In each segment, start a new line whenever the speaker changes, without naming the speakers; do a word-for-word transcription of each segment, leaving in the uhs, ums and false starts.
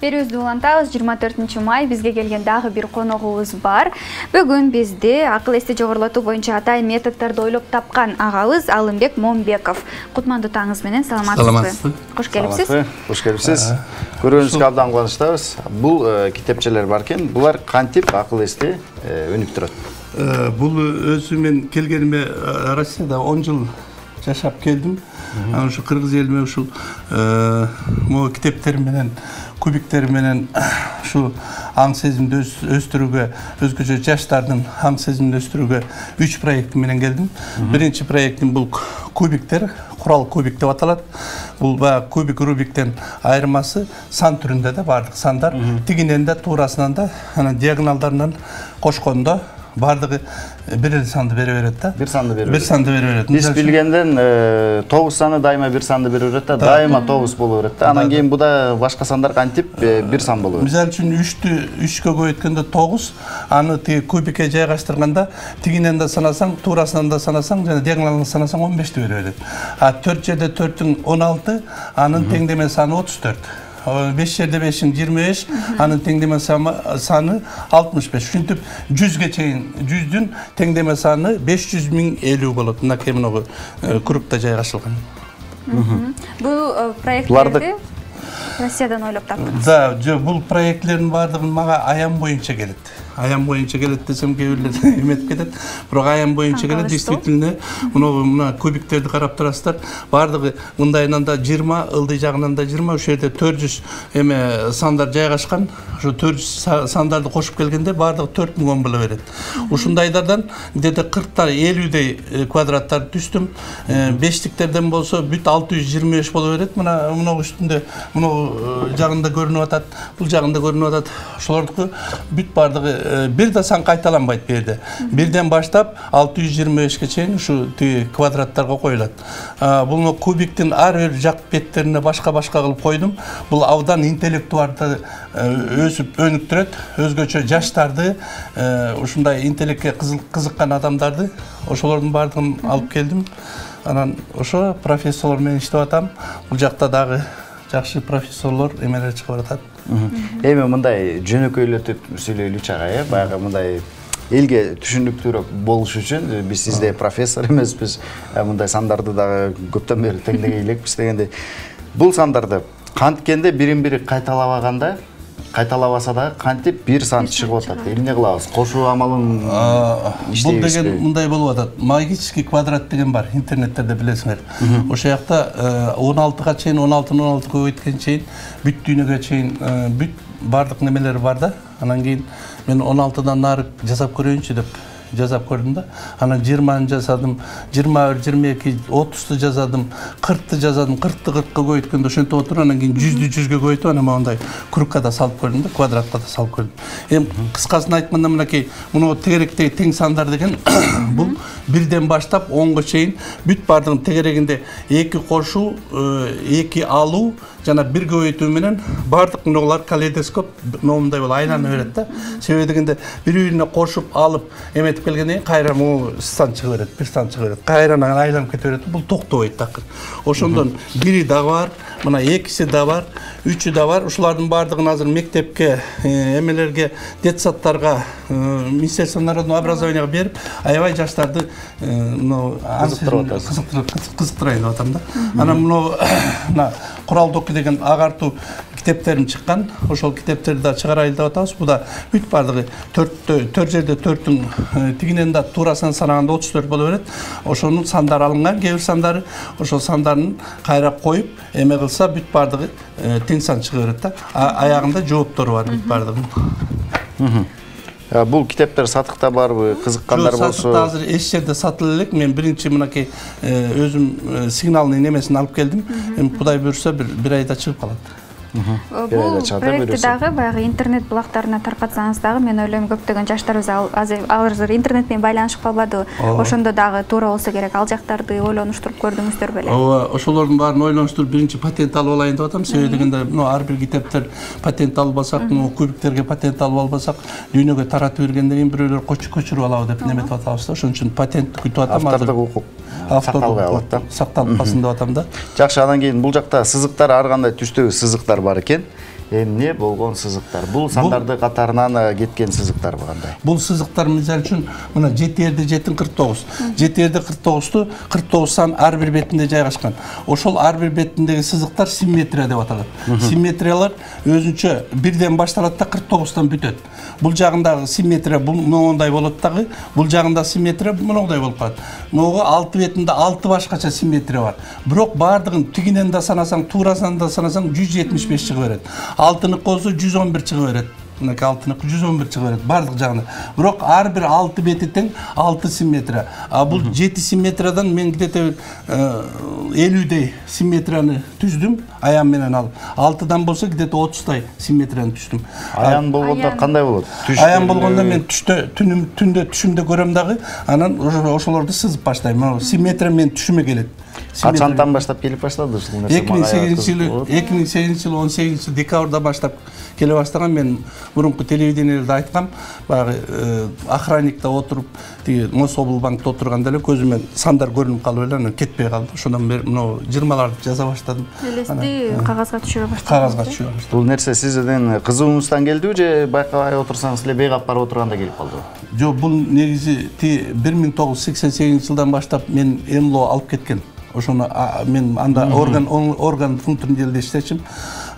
Берүүбүздү улантабыз. жыйырма төртүнчү май бизге келген дагы бир коногубуз бар. Бүгүн бизде акыл эсти жогорулатуу боюнча атайын методдорду ойлоп тапкан агабыз Алымбек Момбеков. Кутмандуу таңыңыз менен, саламатсызбы? Кош келипсиз.
Кош келипсиз. Көрүүнүзгө абдан кубанычтабыз. Бул китепчелер бар экен. Булар кантип акыл эсти өнүк турат?
Бул өзү мен келгениме Россияда он жыл жашап келдим. Анан ушу кыргыз элиме ушул могу китептер менен, кубиктер менен ушу аң сезимди өстүрүүгө, өзгөчө жаштардын аң сезимин өстүрүүгө үч проект менен келдим. Биринчи проектим бул кубиктер, курал кубик деп аталат. Бул баягы кубик рубиктен айырмасы сан түрүндө да бардык сандар, тигинен да, туурасынан да, анан диагоналдарынан кошкондо бардыгы бир эле санды бере берет да.
Бир санды бере берет.
Бир санды бере берет.
Биз билгенден тогуз саны дайыма бир санды бере берет да, дайыма тогуз боло берет да. Анан кийин буда башка сандар кантип бир сан боло берет.
Мисалы үчүн үчтү үчкө көбөйткөндө тогуз, аны тиги кубикке жайгаштырганда тигинен да санасаң, туурасынан да санасаң, жана диагоналынан санасаң он бешти бере берет. А төрт жерде төртүң он алты, анын теңдеме саны отуз төрт. беш жерде бешиң жыйырма беш, анын теңдеме саны алтымыш беш. Ушинтип жүзгө чейин жүздүн теңдеме саны беш жүз миң элүү болот. Мынакей мынагу кругта жайгашылган.
Бул проектлерди Россиядан ойлоп таптыңыз?
Да, бул проектлердин баардыгы мага аян боюнча келет. Аян боюнча келет десем кээ бирлер эметип кетет. Бирок аян боюнча келет, действительно, мына мына кубиктерди карап турасыздар. Баардыгы мындайынан да жыйырма, ылдый жагынан да жыйырма, ошол жерде төрт жүз эме сандар жайгашкан. Ошо төрт жүз сандарды кошуп келгенде баардыгы төрт миң он боло берет. Ушундайдардан где-то кыркта элүүдөй квадраттарды түздүм. Бештиктерден болсо бүт алты жүз жыйырма беш боло берет. Мына мына үстүндө мына жагында көрүнүп атат, бул жагында көрүнүп атат. Ошолордуку бүт баардыгы бир да сан кайталанбайт бу жерде. Бирден баштап алты жүз жыйырма бешке чейин ушу тиги квадраттарга коюлат. Бул кубиктин ар бир жак беттерине башка-башка кылып койдум. Бул абдан интеллектуалды өсүп өнүктүрөт, өзгөчө жаштарды, ушундай интеллектке кызыккан адамдарды, ошолордун баардыгын алып келдим. Анан ошо профессорлор менен иштеп атам. Бул жакта дагы жакшы профессорлор эмелер чыгып атат.
Эми мындай жөнөкөйлөтүп сүйлөйлүчү ага, э, баягы мындай элге түшүнүктүүрөөк болуш үчүн биз сизде профессор эмеспиз, мындай сандарды дагы көптөн бери теңдеген элекпиз дегенде, бул сандарды канткенде бирин-бири кайталабаганда, кайталабаса дагы кантип бир сан чыгып атат? Эмне кылабыз? Кошуу амалын
бул деген мындай болуп атат. Магический квадрат деген бар, интернеттерде билесиңер. Ошол жакта он алтыга чейин, он алтыны он алтыга көбөйткөн чейин бүт дүйнөгө чейин бүт бардык немелер бар да. Анан кийин мен он алтыдан нары жасап көрөйүнчү деп жасап көрдүм да. Анан жыйырманы жасадым, жыйырма бир, жыйырма эки, отузду жасадым, кыркты жасадым, кыркты кыркка көбөйткөндө ошентип отуруп, анан кийин жүздү жүзгө көбөйтүп, анан мондай кругка да салып көрдүм да, квадратка да салып көрдүм. Эми кыскасын айтканда мынакей, муну тегеректеги тең сандар деген бул бирден баштап онго чейин бүт баардыгын тегерегинде эки кошуу, эки алуу жана бир көбөйтүү менен баардык мыналар калейдоскоп момундай болуп айлана берет да. Себеби дегенде бири-бирине кошуп алып эметип келгенден кийин кайра могу сан чыга берет, бир сан чыга берет. Кайрадан айланып кете берет. Бул токтобойт такыр. Ошондон бири да бар, мына экиси да бар, үчү да бар. Ушулардын баардыгын азыр мектепке, эмелерге, детсадтарга, Министерство народного образования берип, аябай жаштарды мына кызыктырайын деп атам да. Анан мына курал доку деген агартуу китептерим чыккан. Ошол китептерди да чыгарайлы деп атабыз. Бу да бүт баардыгы төрт жерде төртүн тигинен да туурасынан санаганда отуз төрт боло берет. Ошонун сандары алынган, кээ бир сандары ошол сандарын кайра коюп эме кылса бүт баардыгы тең сан чыга берет да. Аягында жооптору бар бүт баардыгынын.
Бул китептер сатыкта барбы, кызыккандар болсо?
Сатыкта азыр эч жерде сатыла элек. Мен биринчи мынакей өзүм сигналный немесин алып келдим. Эми Кудай буйрса бир айда чыгып калат.
Бул проектти дагы баягы интернет булактарына таркатсаңыз дагы, мен ойлойм көптөгөн жаштарыбыз азыр интернет менен байланышып калбадыбы? Ошондо дагы туура болсо керек, ал жактарды ойлонуштуруп көрдүңүздөр беле?
Ооба, ошолордун баарын ойлонуштуруп биринчи патент алып алайын деп атам. Себеби дегенде, ар бир китептер патент албасак, кубиктерге патент алып албасак, дүйнөгө таратып бергенден кийин бирөөлөр көчүрүп алабы деп неметип атабыз да. Ошон үчүн патент күтүп атам.
Автордук укук сакталбай калат да.
Сакталып калсын деп атам да.
Жакшы, андан кийин бул жакта сызыктар ар кандай түстөгү сызыктар бар экен. эмне болгон сызыктар? Бул сандарды катарынан кеткен сызыктар кандай?
Бул сызыктар мисалы үчүн мына жети эрде жети кырк тогуз. жети эрде кырк тогузду кырк тогуз сан ар бир бетинде жайгашкан. Ошол ар бир бетиндеги сызыктар симметрия деп аталат. Симметриялар өзүнчө бирден башталат да кырк тогуздан бүтөт. Бул жагындагы симметрия бул моундай болот дагы, бул жагында симметрия моундай болуп калат. Могу алты бетинде алты башкача симметрия бар. Бирок бардыгын тигинен да санасаң, туурасынан да санасаң жүз жетимиш беш чыга берет. Алтынык болсо жүз он бир чыга берет. Мынакей алтынык жүз он бир чыга берет бардык жагында. Бирок ар бир алты бети тең алты симметрия. А бул жети симметриядан мен где-то элүүдөй симметрияны түздүм аян менен алып. алтыдан болсо где-то отуздай симметрияны түздүм.
Аян болгондо кандай болот?
Аян болгондо мен түштө түнүм түндө түшүмдө көрөм дагы, анан ошолорду сызып баштайм. Симметрия мен түшүмө келет.
Качантан баштап келип баштады ушул нерсе?
эки миң сегизинчи жылы эки миң сегизинчи жылы он сегизинчи декабрда баштап келе баштаган. Мен мурунку телевидениеде айткам, баягы охранникте отуруп, тиги Мособлбанкта отурганда эле көзүмө сандар көрүнүп калып эле, анан кетпей калды. Ошондон бери мына жыйырмаларды жаза баштадым.
Элести кагазга түшүрө баштадым.
Кагазга түшүрө баштадым.
Бул нерсе сиздин кызугуңуздан келдиби же байкабай отурсаңыз эле бейгап барып отурганда келип калдыбы?
Жок, бул негизи бир миң тогуз жүз сексен сегизинчи жылдан баштап мен МЛО алып кеткен. Ошону мен анда орган орган внутренний делде иштечим.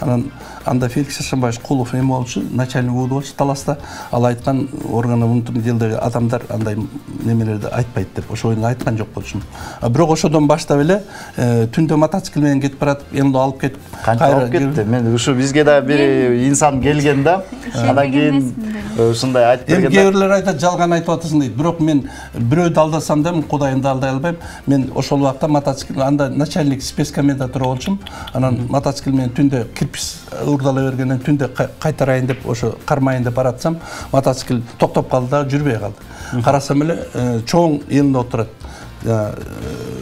Анан анда Феликс Шашанбаевич Кулов эме болчу, начальник УУ болчу Таласта. Ал айткан орган внутренний делдеги адамдар андай немелерди айтпайт деп. Ошону айткан жок болчумун. Бирок ошодон баштап эле түндө мотоцикл менен кетип баратып, МЛО алып кетип,
кайра алып кетти. Мен ушу бизге да бир инсан келген да, андан кийин ушундай айтып
бергенде. Эми кээ бирлер айтат, жалган айтып атасың дейт. Бирок мен бирөөдү алдасам да, Кудайымды алдай албайм. Мен ошол убакта мотоцикл анда начальник спецкомендатура болчум. Анан мотоцикл менен түндө кирпич урдала бергенден түндө кайтарайын деп ошо кармайын деп баратсам, мотоцикл токтоп калды да жүрбөй калды. Карасам эле чоң элинде отурат.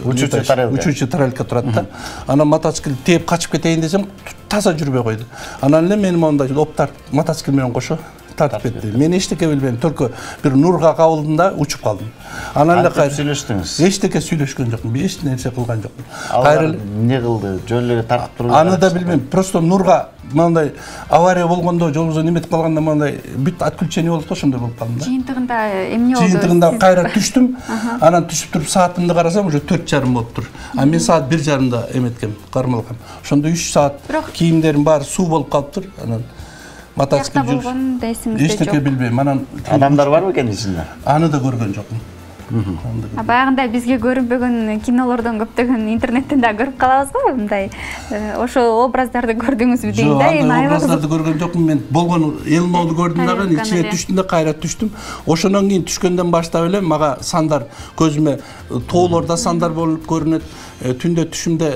Учуучу тарелка. Учуучу тарелка турат да. Анан мотоцикл тээп качып кетейин десем, таза жүрбөй койду. Анан эле мени мондай оптар мотоцикл менен кошо тартып кетти. Мен эчтеке билбейм, только бир нурга кабылдым да учуп калдым. Анан эле кайра сүйлөштүңүз. Эчтеке сүйлөшкөн жокмун, эч нерсе кылган жокмун.
Кайра эмне кылды? Жол эле тартып туруп.
Аны да билбейм, просто нурга мындай авария болгондо, жолубузда неметип калганда мындай бүт отключение болуп, ошондой болуп калдым да.
Жыйынтыгында эмне болду?
Жыйынтыгында кайра түштүм. Анан түшүп туруп саатымды карасам, уже төрт жарым болуптур. А мен саат бир жарымда эметкем, кармалгам. Ошондо үч саат кийимдерим баары суу болуп калыптыр. Анан мотоцикл
жүрүп эсиңизде жок.
Эчтеке билбейм. Анан
адамдар барбы экен ичинде?
Аны да көргөн жокмун.
Баягындай бизге көрүнбөгөн кинолордон көптөгөн интернеттен да көрүп калабыз го, мындай ошол образдарды көрдүңүзбү дейм да.
Эми образдарды көргөн жокмун, мен болгон элмоду көрдүм дагы, ичине түштүм да кайра түштүм. Ошондон кийин түшкөндөн баштап эле мага сандар көзүмө тоолордо сандар болуп көрүнөт. Түндө түшүмдө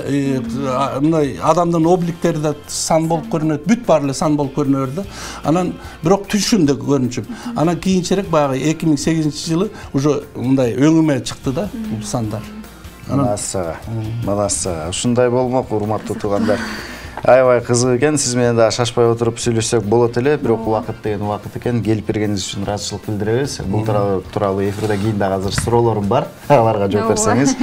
мындай адамдын обликтери да сан болуп көрүнөт, бүт баары эле сан болуп көрүнөр да. Анан бирок түшүмдө көрүнчүм. Анан кийинчерээк баягы эки миң сегизинчи жылы уже мындай өңүмө чыкты да бул сандар.
Массага, массага. Ушундай болмок, урматтуу туугандар. Аябай кызык экен, сиз менен да шашпай отуруп сүйлөшсөк болот эле, бирок убакыт деген убакыт экен. Келип бергениңиз үчүн ыраазычылык билдиребиз. Бул тууралуу эфирде кийин дагы азыр суроолорум бар. Аларга жооп берсеңиз.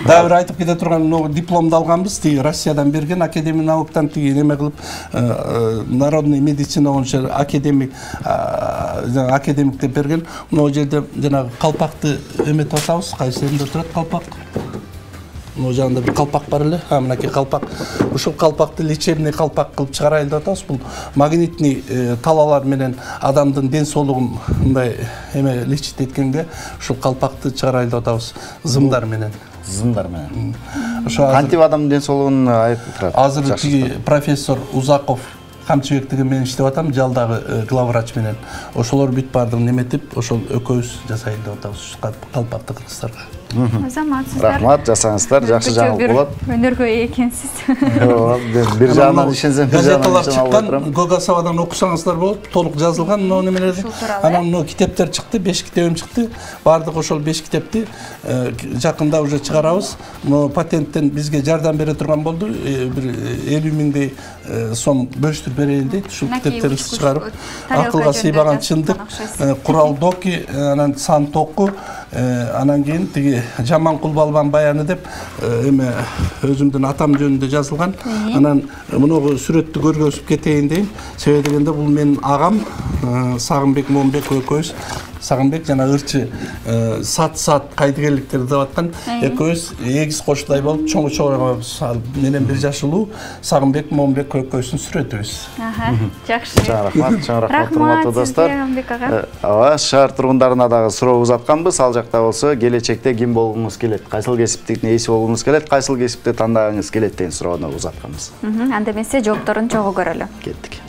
Дагы бир айтып кете турган, могу дипломду алганбыз, тиги Россиядан берген Академия науктан тиги неме кылып, народный медицина боюнча академик академик деп берген. Могу жерде жанагы калпакты эметип атабыз, кайсы жеринде турат калпак? Могу жагында бир калпак бар эле. А мынакей калпак. Ушул калпакты лечебный калпак кылып чыгарайлы деп атабыз. Бул магнитный талаалар менен адамдын ден соолугун мындай эме лечить эткенде ушул калпакты чыгарайлы деп атабыз зымдар менен.
Зымдар менен. Ошо кантип адамдын ден соолугун айтып турат?
Азыр тиги профессор Узаков Камчыбек деген менен иштеп атам, жалдагы главврач менен. Ошолор бүт баардыгын эметип, ошол экөөбүз жасайлы деп атабыз калпакты кыргыздарга.
Азаматсыздар.
Рахмат, жасаңыздар, жакшы жаңылык болот.
Өнөргө экенсиз.
Бир жагынан ишенсем, бир жагынан
чыккан, Гогасавадан окусаңыздар болот, толук жазылган мына немелерди. Анан мына китептер чыкты, беш китебим чыкты. Бардык ошол беш китепти жакында уже чыгарабыз. Мына патенттен бизге жардам бере турган болду. Бир элүү миңдей сом бөлүштүрүп берели дейт. Ушул китептерибизди чыгарып, акылга сыйбаган чындык, курал доки, анан сан току, анан кийин тиги Жаманкул Балбан баяны деп эме өзүмдүн атам жөнүндө жазылган. Анан муну сүрөттү көргөзүп кетейин дейм. Себеби дегенде бул менин агам Сагынбек Момбек экөөбүз. Сагынбек жана ырчы сат-сат кайдыгерликтер деп аткан экөөбүз эгиз кошулай болуп чоң-чоң менен бир жаш улуу Сагынбек Момбек экөөбүздүн сүрөтүбүз.
Жакшы.
Чоң рахмат, чоң рахмат урматтуу достор.
Сагынбек ага.
Ооба, шаар тургундарына дагы суроо узатканбыз. Ал жакта болсо келечекте ким болгуңуз келет, кайсыл кесиптин ээси болгуңуз келет, кайсыл кесипти тандагыңыз келет деген суроону узатканбыз.
Анда эмесе жоопторун чогуу көрөлү.
Кеттик.